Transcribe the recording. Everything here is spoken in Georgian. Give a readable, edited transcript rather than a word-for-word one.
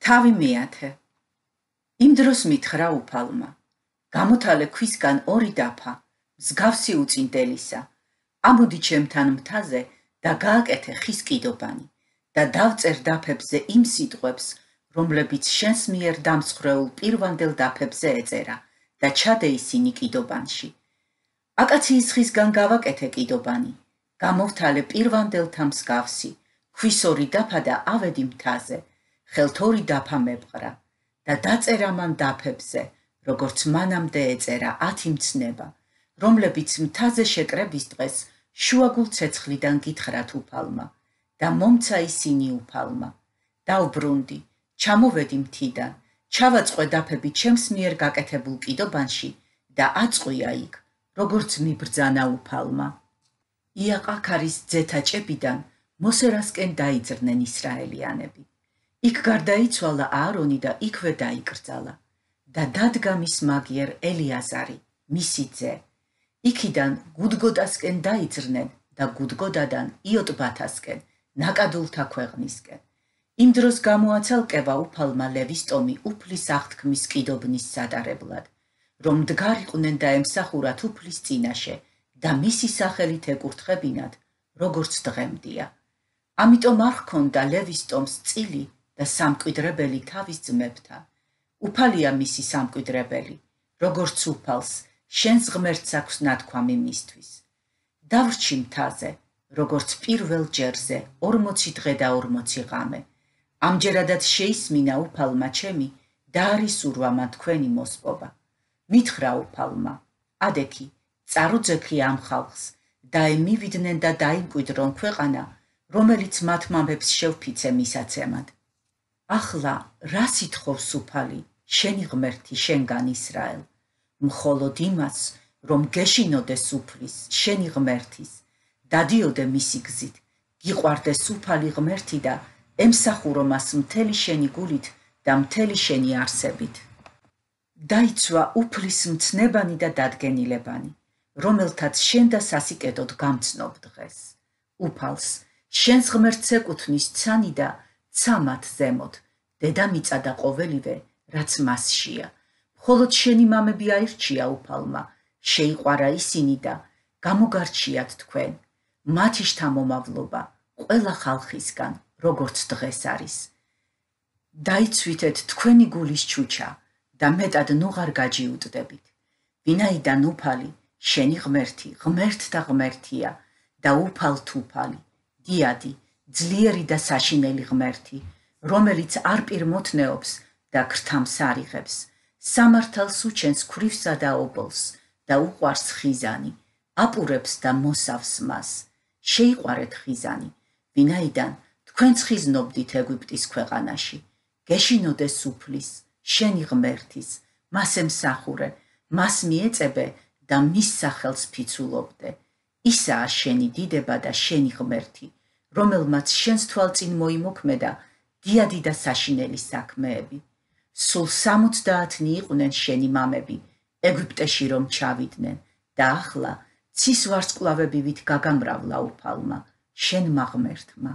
თავი მეათე. იმ დროს მითხრა უფალმა, გამოთალე ქვისგან ორი დაფა, მსგავსი უწინდელისა, ამოდი ჩემთან მთაზე და გააკეთე ხის კიდობანი და დავწერ დაფებზე იმ სიტყვებს, რომლებიც შენს მიერ დამსხვრეულ პირვანდელ დაფებზე ეწერა და ჩადე ისინი კიდობანში. აკაციის ხისგან გავაკეთე კიდობანი, გამოვთალე პირვანდელთა მსგავსი, ქვის ორი დაფა და ავედი მთაზე, ხელთ ორი დაფა მებყრა და დაწერა მან დაფებზე, როგორც მანამდე ეწერა 10 მცნება, რომლებიც მთაზე შეკრების დღეს შუაგულ ცეცხლიდან გითხრათ უფალმა და მომცა ისინი უფალმა. დავბრუნდი, ჩამოვედი მთიდან, ჩავაწყვე დაფები ჩემს მიერ გაკეთებულ კიდობანში და აწყვია იქ, როგორც მიბრძანა უფალმა. იაყაქარის ძეთა ჭებიდან მოსერასკენ დაიძრნენ ისრაელიანები. იქ გარდაიცვალა აარონი და იქვე დაიკრძალა და დადგა მის მაგიერ ელიაზარი, მისი ძე. იქიდან გუდგოდასკენ დაიძრნენ და გუდგოდადან იოტბათასკენ, ნაკადულთა ქვეყნისკენ. იმ დროს გამოაცალკევა უფალმა ლევის ტომი უფლის აღთქმის კიდობნის სადარებლად, რომ მდგარიყვნენ და ემსახურათ უფლის წინაშე და მისი სახელით ეკურთხებინათ, როგორც დღემდეა. ამიტომ არ ჰქონდა ლევის ტომს წილი და სამკვიდრებელი თავის ძმებთან. უფალია მისი სამკვიდრებელი, როგორც უფალს, შენს ღმერთს აქვს ნათქვამი მისთვის. დავრჩი მთაზე, როგორც პირველ ჯერზე 40 დღე და 40 ღამე. ამჯერადაც შეისმინა უფალმა ჩემი და არისურვა მან თქვენი მოსპობა. მითხრა უფალმა, ადექი, წარუძექი ამ ხალხს და მივიდნენ და დაიმკვიდრონ ქვეყანა, რომელიც მათ მამებს შევფიცე მისაცემად. ახლა რა სითხოვს უფალი, შენი ღმერთი შენგან ისრაელ? მხოლოდ იმას, რომ გეშინოდეს უფლის, შენი ღმერთის, დადიოდე მისი გზით, გიყვარდეს უფალი ღმერთი და ემსახურო მას მთელი შენი გულით და მთელი შენი არსებით. დაიცვა უფლის მცნებანი და დადგენილებანი, რომელთაც შენ და სასიკეთოდ გამცნობ დღეს. უფალს, შენს ღმერთს ეკუთვნის ცანი და ცამათ ზემოთ, დედამიწა და ყოველივე, რაც მასშია. მხოლოდ შენი მამები აირჩია უფალმა, შეიყვარა ისინი და გამოგარჩიათ თქვენ, მათი შთამომავლობა ყველა ხალხისგან, როგორც დღეს არის. დაიცვითეთ თქვენი გულის ჩუჩა და მეტად ნუღარ გაჯიუტდებით, ვინაიდან უფალი, შენი ღმერთი, ღმერთთა ღმერთია და უფალთ უფალი, დიადი, ძლიერი და საშინელი ღმერთი, რომელიც არ პირმოთნეობს და ქრთამს არ იღებს, სამართალს უჩენს ქვრივსა და ობოლს და უყვარს ხიზანი, აპურებს და მოსავს მას. შეიყვარეთ ხიზანი, ვინაიდან თქვენც ხიზნობდით ეგვიპტის ქვეყანაში. გეშინოდეს უფლის, შენი ღმერთის, მას ემსახურე, მას მიეწებე და მის სახელს ფიცულობდე. ისაა შენი დიდება და შენი ღმერთი, რომელმაც შენს თვალწინ მოიმოქმედა დიადი და საშინელი საქმეები. სულ 70 იყვნენ შენი მამები, ეგვიპტეში რომ ჩავიდნენ და ახლა ცის ვარსკვლავები ვით გაგამრავლა უფალმა, შენმა ღმერთმა.